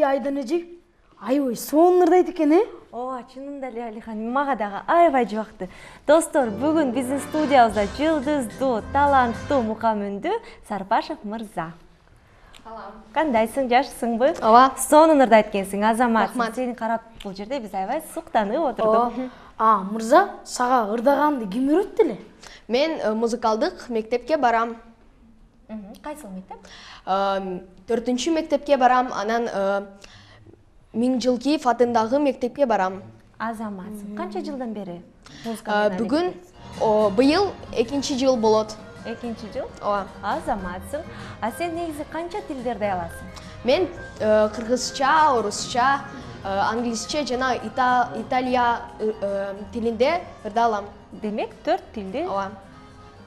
айдан эже аябай сонун ырдайт экен, Ооба, чынында эле Алихан, мага дагы аябай жубактı. Достор, бүгүн биздин студиябызда жылдыздуу, таланттуу мукамүндүү Сарпашев мырза. Кандайсың, жакшысыңбы? Ооба. Сонун ырдайт экенсиң, азаматсың. Сени карап бул жерде биз аябай суктанып отурдук. Мырза, сага ырдаганды ким үйрөттү эле? Мен музыкалдык мектепке барам. Кайсыл мектеп? 4-чү мектепке барам, анан Миңжилкиев атындагы мектепке барам. Азаматсың. Канча жылдан бери? Бүгүн быйыл 2-чи жыл болот. 2-чи жыл? Ооба. Азаматсың. А сен негизи канча тилдерди аласың? Мен кыргызча, орусча, англисче жана италия тилинде ырдалам. Демек 4 тилди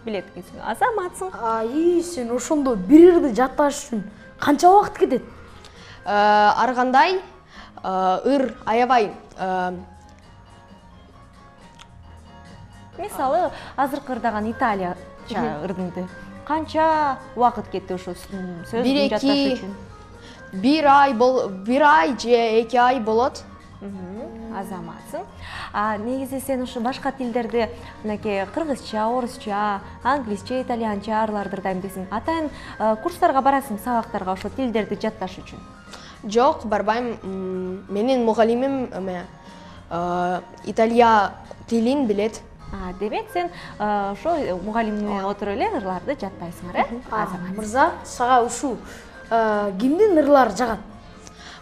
билет экенсиң. Азаматсың. Сен ошондо бир ырды жатташ үчүн канча убакыт кетет? Ар кандай аябай. Мисалы, азыркы ырдаган италияча ырдыңды канча убакыт кетти ошо сөздү жатташ үчүн? 1 ай же 2 ай болот. Азаматсың. Негизи сен ушу башка тилдерди, мынакей кыргызча, орусча, англисче, итальянча арларды ырдайм десең, атайын курстарга барасың, сабактарга ошо тилдерди жатташ үчүн? Жок, барбайм. Менин мугалимим италия тилин билет. Демек сен ошо мугалимине отуруп эле ырларды жаттайсыңар, Азамат? Мырза, сага ушул кимдин ырлары жагат?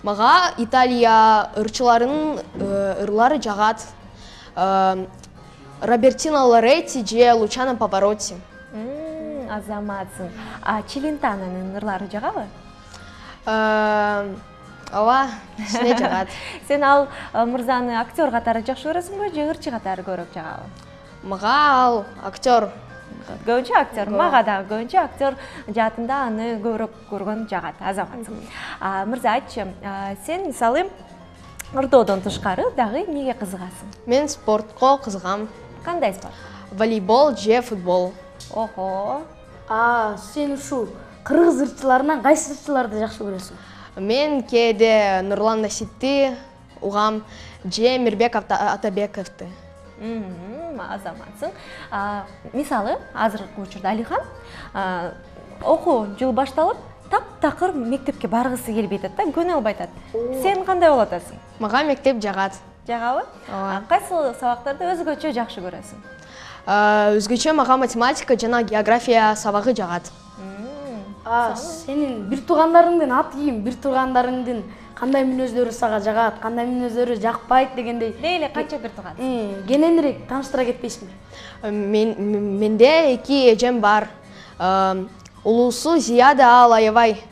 Мага Италия ырчыларынын ырлары жагат. Робертино Лоретти же Лучано Паваротти. Азаматсың. Челентананын ырлары жагабы? Ооба, кичине жагат. Сен ал мырзаны актер катары жакшы көрөсүңбү же ырчы катары көрөк жагабы? Мага ал актер. Көбүнчө актер. Мага да көбүнчө актер жаатында аны көбүрөөк көргөн жагат. Азаматсың. Мырза, айтчы, сен мисалы ырдоодон тышкары дагы эмнеге кызыгасың? Мен спортко кызыгам. Кандай спорт? Волейбол же футбол. Охо. Сен ушул кыргыз ырчыларынан кайсы ырчыларды жакшы көрөсүң? Мен кээде Нурлан Насипти угам же Мирбек Атабековду. Азаматсың. Мисалы, азыркы учурда Алихан окуу жыл башталып, таптакыр мектепке баргысы келбей атат да, көнө албай атат. Сен кандай болуп атасың? Мага мектеп жагат. Жагабы? Кайсы сабактарды өзгөчө жакшы көрөсүң? Өзгөчө мага математика жана география сабагы жагат. Сенин бир туугандарыңдын аты ким? Бир туугандарыңдын кандай мүнөздөрү сага жагат, кандай мүнөздөрү жакпайт дегендей. Дейле канча бир тууган? Кененирээк тааныштыра кетпейсиңби? Менде 2 эжем бар. Улуусу Зияда, ал аябай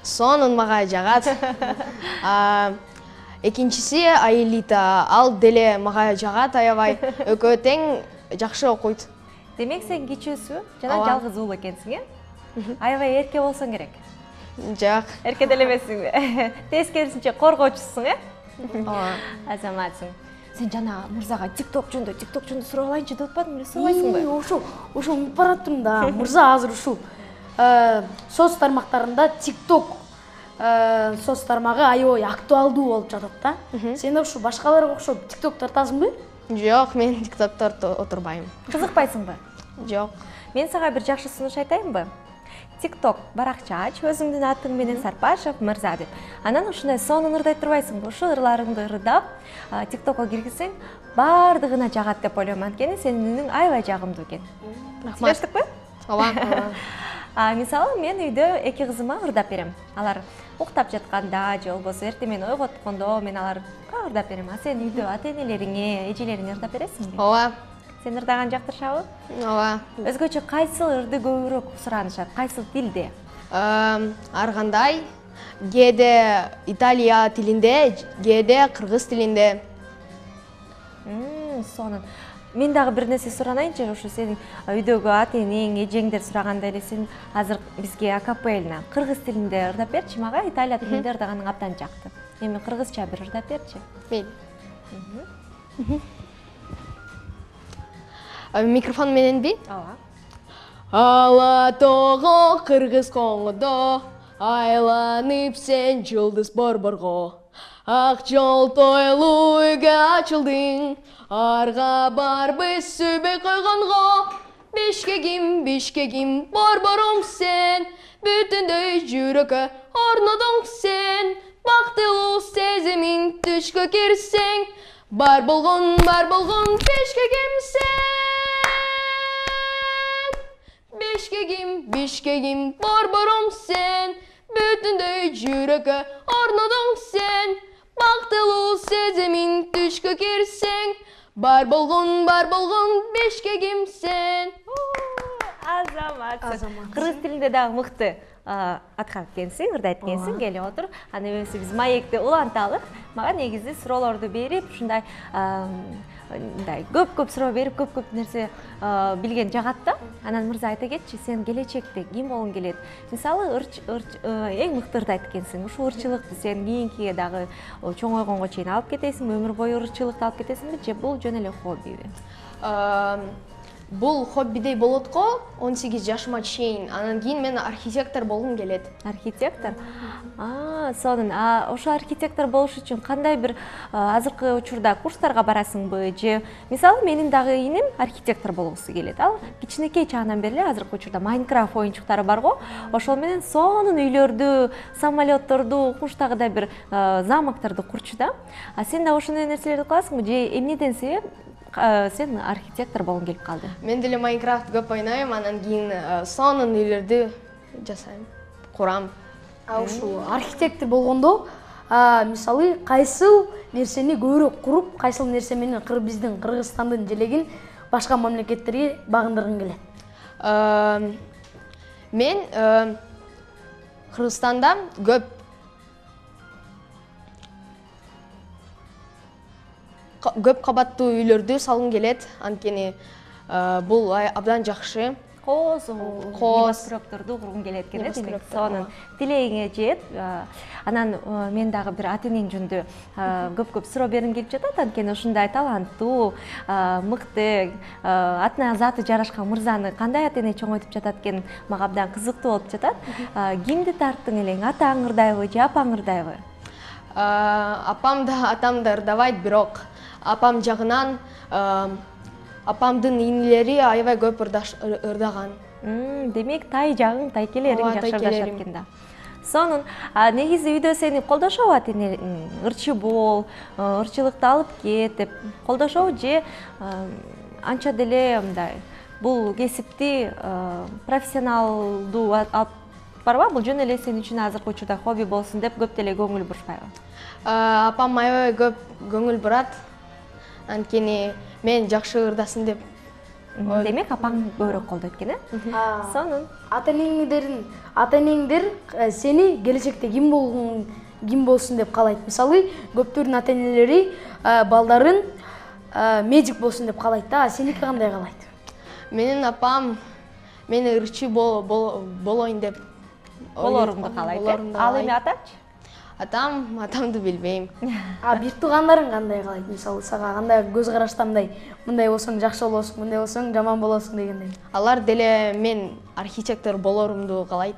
сонун мага жагат. Экинчиси Аилита, ал деле мага жагат аябай. Экөө тең жакшы окуйт. Демек сен кичүүсү жана жалгыз уул экенсиң, Аябай эрке болсоң керек. Жок. Эрке деле эмессиңби? Тескерисинче коргоочусуң, Азаматсың. Сен жана мырзага TikTok жөнүндө сурап алайынчы деп атпадың беле, сурабайсыңбы? Ошо унутуп бараттым да. Мырза азыр ушул соц тармактарында TikTok соц тармагы аябай актуалдуу болуп жатат да. Сен ошо башкаларга окшоп TikTok тартасыңбы? Жок, мен TikTokто отурбайм. Кызыкпайсыңбы? Жок. Мен сага бир жакшы сунуш айтайынбы? TikTok баракча ач, өзүңдүн атың менен Сарпашев мырза деп. Анан ушундай сонун ырдай турбайсыңбы? Ушул ырларыңды ырдап, TikTokко киргизсең, бардыгына жагат деп ойлойм. Анткени сенин үнүң аябай жагымдуу экен. Сүйлөштүкпү? Ооба. Мисалы, мен үйдө 2 кызыма ырдап берем. Алар уктап жатканда же болбосо эртең менен ойготкондо мен аларга ырдап берем. А сен үйдө ата-энелериңе, эжелериңе ырдап бересиңби? Ооба. Сен ырдаган жактырышабы? Ооба. Өзгөчө кайсыл ырды көбүрөөк суранышат? Кайсыл тилде? Ар кандай. Кээде Италия тилинде, кээде кыргыз тилинде. Сонун. Мен дагы бир нерсе суранайынчы, ошо сенин үйдөгү ата-энең, эжеңдер сураганда эле сен азыр бизге акапельна кыргыз тилинде ырдап берчи мага, Италия тилинде ырдаганың абдан жакты. Эми кыргызча бир ырдап берчи. Микрофон мененби? Ооба. Ала тоого кыргыз коңдо, айланып сен жылдыз борборго, ак жол тойлуу үйгө ачылдың, арга барбыз сүйбөй койгонго. Бишкегим, борборум сен, бүтүндөй жүрөккө орнодуң сен, бактылуу сезимиң түшкө кирсең, бар болгон бишкегим сен. Бишкегим, борборум сен, бүтүндөй жүрөккө орнодуң сен, бактылуу сезимиң түшкө кирсең, бар болгон бишкегим сен. Азамат. Кыргыз тилинде дагы мыкты аткарып экенсиң, ырдайт экенсиң. Келе отур. Аны эмесе биз маекти уланталык. Мага негизи суроолорду берип, ушундай мындай көп суроо берип, көп нерсе билген жагат да. Анан мырза айта кетчи, сен келечекте ким болгуң келет? Мисалы, эң мыкты ырдайт экенсиң. Ушул ырчылыкты сен кийинкиге дагы чоңойгонго чейин алып кетесиңби? Өмүр бою ырчылыкты алып кетесиңби? Же бул жөн эле хоббиби? Бул хоббидей болот го 18 жашыма чейин. Анан кийин мен архитектор болгум келет. Архитектор? Сонун. Ошо архитектор болуш үчүн кандай бир азыркы учурда курстарга барасыңбы? Же мисалы менин дагы иним архитектор болгусу келет. Ал кичинекей чагынан бери эле азыркы учурда Майнкрафт оюнчуктары бар го. Ошол менен сонун үйлөрдү, самолетторду, куштагыдай бир замокторду курчу да. Сен да ошондой нерселерди кыласыңбы? Же эмнеден себеп сен архитектор болгуң келип калды? Мен деле Майнкрафт көп ойнойм, анан кийин сонун үйлөрдү жасайм, курам. Ушул архитектор болгондо, мисалы, кайсыл нерсени көбүрөөк куруп, кайсыл нерсе менен биздин Кыргызстандын желегин башка мамлекеттерге багындыргың келет? Мен Кыргызстанда көп кабаттуу үйлөрдү салгым келет, анткени бул абдан жакшы. Кооз небоскрепторду кургуң келет экен, демек сонун тилегиңе жет. Анан мен дагы бир ата энең жөнүндө көп суроо бергим келип жатат, анткени ушундай таланттуу, мыкты, атына заты жарашкан мырзаны кандай ата эне чоңойтуп жатат экен, мага абдан кызыктуу болуп жатат. Кимди тарттың элең? Атаң ырдайбы же апаң ырдайбы? Апам да, атам да ырдабайт, бирок апам жагынан апамдын инилери аябай көп ырдаган. Демек тай жагың, тайкелериң жакшы ырдашат экен да. Сонун. Негизи үйдө сени колдошобу ата энең? Ырчы бол, ырчылыкты алып кет деп колдошобу же анча деле мындай бул кесипти профессионалдуу алып барбы? Бул жөн эле сен үчүн азыркы учурда хобби болсун деп көп деле көңүл бурушпайбы? Апам аябай көп көңүл бурат, анткени мен жакшы ырдасын деп. Демек апаң көбүрөөк колдойт экен, Сонун. Ата энеңдер сени келечекте ким болсун деп каалайт. Мисалы, көптөрдүн ата энелери балдарын медик болсун деп каалайт да, сеники кандай каалайт? Менин апам мени ырчы болоюн деп болорумду каалайт. Ал эми атачы? Атамды билбейм. Бир туугандарың кандай каалайт? Мисалы, сага кандай көз карашта мындай болсоң жакшы болосуң, мындай болсоң жаман болосуң дегендей. Алар деле мен архитектор болорумду каалайт.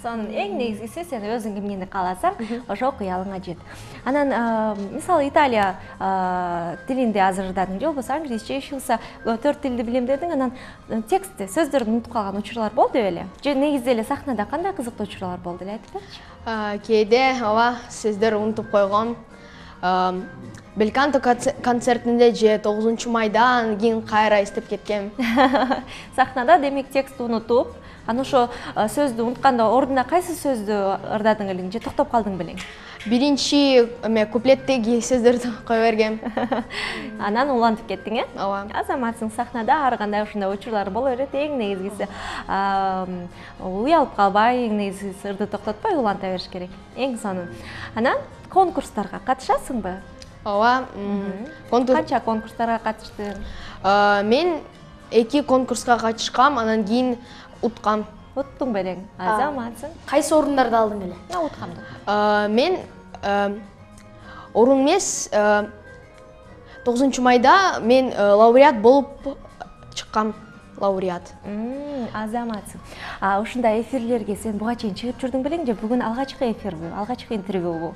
Сонун. Эң негизгиси сен өзүң эмнени кааласаң, ошол кыялыңа жет. Анан мисалы Италия тилинде азыр ырдадың, же болбосо англисче, ишилса 4 тилди билем дедиң, анан текстти, сөздөрдү унутуп калган учурлар болду беле? Же негизи эле сахнада кандай кызыктуу учурлар болду эле, айтып берчи? Кээде сөздөр унутуп койгом. Белканто концертинде же 9 майда кийин кайра эстеп кеткем. Сахнада демек текстти унутуп, анан ошо сөздү унутканда ордуна кайсы сөздү ырдадың элең же токтоп калдың белең? Биринчи куплеттеги сөздөрдү кое бергем. Анан улантып кеттиң, Ооба. Азаматсың, сахнада ар кандай ушундай учурлар боло берет. Эң негизгиси уялып калбай, эң негизгиси ырды токтотпой уланта бериш керек. Эң сонун. Анан конкурстарга катышасыңбы? Ооба. Канча конкурстарга катыштың? Мен 2 конкурска катышкам, анан кийин уткам. Уттуң белең? Азаматсың. Кайсы орундарды алдың эле? Уткамдың. Мен орун эмес, 9 майда мен лауреат болуп чыккам. лауреат. Азаматсың. Ушундай эфирлерге сен буга чейин чыгып жүрдүң белең же бүгүн алгачкы эфирби, алгачкы интервьюбу?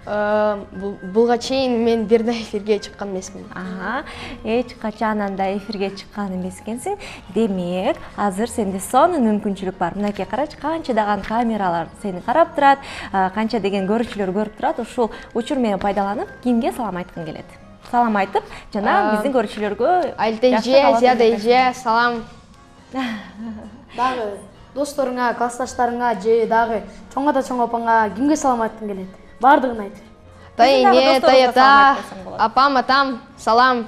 Буга чейин мен бир да эфирге чыккан эмесмин. Эч качан анда эфирге чыккан эмес экенсиң. Демек, азыр сенде сонун мүмкүнчүлүк бар. Мынакей карачы, канчадаган камералар сени карап турат, канча деген көрүүчүлөр көрүп турат. Ушул учур менен пайдаланып, кимге салам айткың келет? Салам айтып, жана биздин көрүүчүлөргө Айылта эже, Зияда эже, салам. Дагы досторуңа, классташтарыңа же дагы чоң ата, чоң апаңа кимге салам айткың келет? Бардыгын айт. Тайэне, тайата, апам, атам, салам.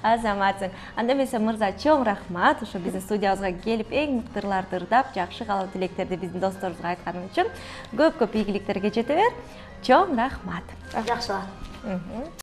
Азаматсың. Анда эмесе мырза, чоң рахмат ошо биздин студиябызга келип, эң мыкты ырларды ырдап, жакшы каалоо тилектерди биздин досторубузга айтканың үчүн көп ийгиликтерге жете бер. Чоң рахмат. Жакшы.